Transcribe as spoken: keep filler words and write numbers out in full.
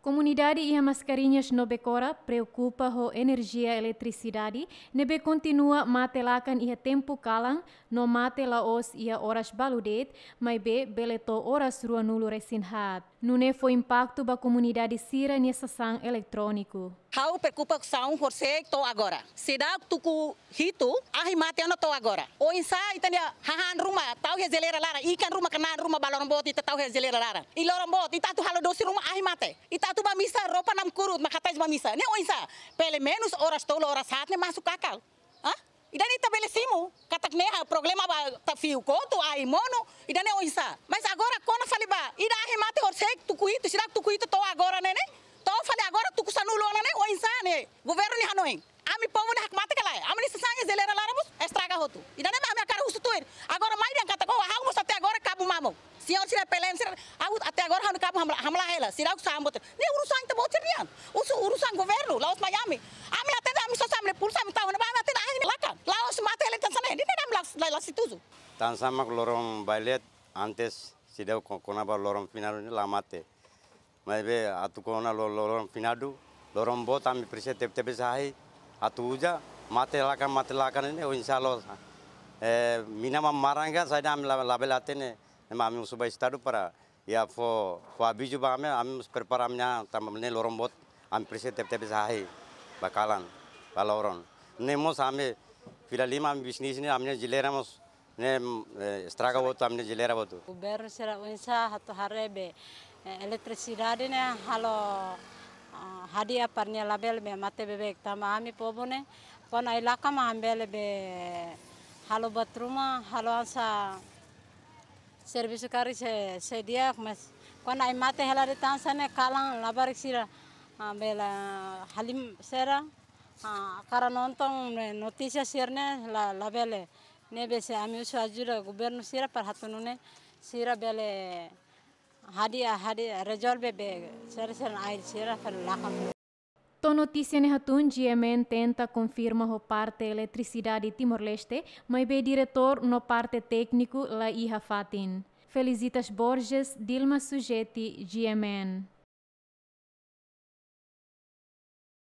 Komunidade iha Mascarenhas no Becora preokupa ho enerjia eletrisidade ne'ebé kontinua mate lakan iha tempu kalan no mate la'ós iha oras balu de'it, maibé bele to'o oras ruanulu resin haat. Nune'e fó impaktu ba komunidade sira-nia sasán eletróniku. Ha'u preokupasaun horisehik to'o agora. Seidauk tuku hitu, ahi mate ona to'o agora. Oinsá ita-nia hahán ruma tau iha jeleira laran, ikan ruma, kanan ruma ba loron boot ita tau iha jeleira laran. I loron boot ita atu halo dosi ruma, ahi mate. Ita atu bá misa, roupa namkurut mak hatais bá misa. Ne'e oinsá? Pelumenus oras tolu, oras haat ne'e masuk akal. Hah? Ida-ne'e ita bele simu katak ne'e ha'u problema ba, ita fiu kotu, ahi monu. Ida-ne'e oinsá? Mas agora kona fali ba ida, ahi mate horisehik tuku hitu, seidauk tuku hitu to'o agora ne'e, ne'e. To'o fali agora tuku sanulu ona ne'e, oinsá ne'e governu nia hanoin? Ami povu nia hakmatek ka lae? Ami-nia sasán iha jeleira laran mós estraga hotu. Ida-ne'e mak ami hakarak husu tuir. Agora mai dehan katak, oh, ha'u mós até agora kabu mamuk. Señór sira, P L N sira, ha'u até agora ha'u-nia kabu hamlaha, hamlaha hela. Seidauk sambut. Ne'e urusan ita-boot sira-nian. Usu urusan governu, la'ós mai ami. Ami la hatene, ami sosa ami-nia pulsa, ami tau ona ba, ami la hatene ahi ne'e lakan. La'ós mate hela tan hanesan ne'e. Ne'e ami la, la, la setuju. Tan hanesan mak loron ba-ileet, antes seidauk ko-, kona-ba loron finadu ne'e la mate. Maibé atu kona lo-, lo-, loron finadu, loron boot ami presiza teb-, tebes ahi, atu uza, mate lakan, mate lakan ne'e, oinsá loos. Eh, mina mak maran ka saida ami la-, labele hatene, ne'e mak ami husu ba Estadu para, iha fó, fó avizu ba ami, ami mós prepara ami-nia tanba ne'e loron boot, ami presiza teb-, tebes ahi, ba kalan, ba loron. Ne'e mós ami fila lima ami bisnis ne'e, ami-nia jeleira mós ne'e, eh, estraga hotu, ami-nia jeleira hotu. Governu sira oinsá atu haree be, eh, eletrisidade ne'e halo, ah, hadi'a para nia labele be mate beibeik tanba ami povu ne'e, kuandu ahi lakan mak ami bele be halo buat ruma, halo hanesan servisu karik sei, sei di'ak, mas kuandu ahi mate hela de'it hanesan ne'e kalan labarik sira, ah, bele halim sira, ah, hakarak nonton ne'e notísia sira-ne'e la, labele. Ne'ebé se ami husu ajuda governu sira para hatún nune'e sira bele hadi'a, hadi'a rezolve be sira, sira ahi sira fali lakan. To'o notísia ne'e hatún, G M N tenta konfirma ho parte Eletrisidade Timor-Leste, maibé diretór no parte tékniku la iha fatin. Felicitas Borges, Dilma Sujeti, G M N.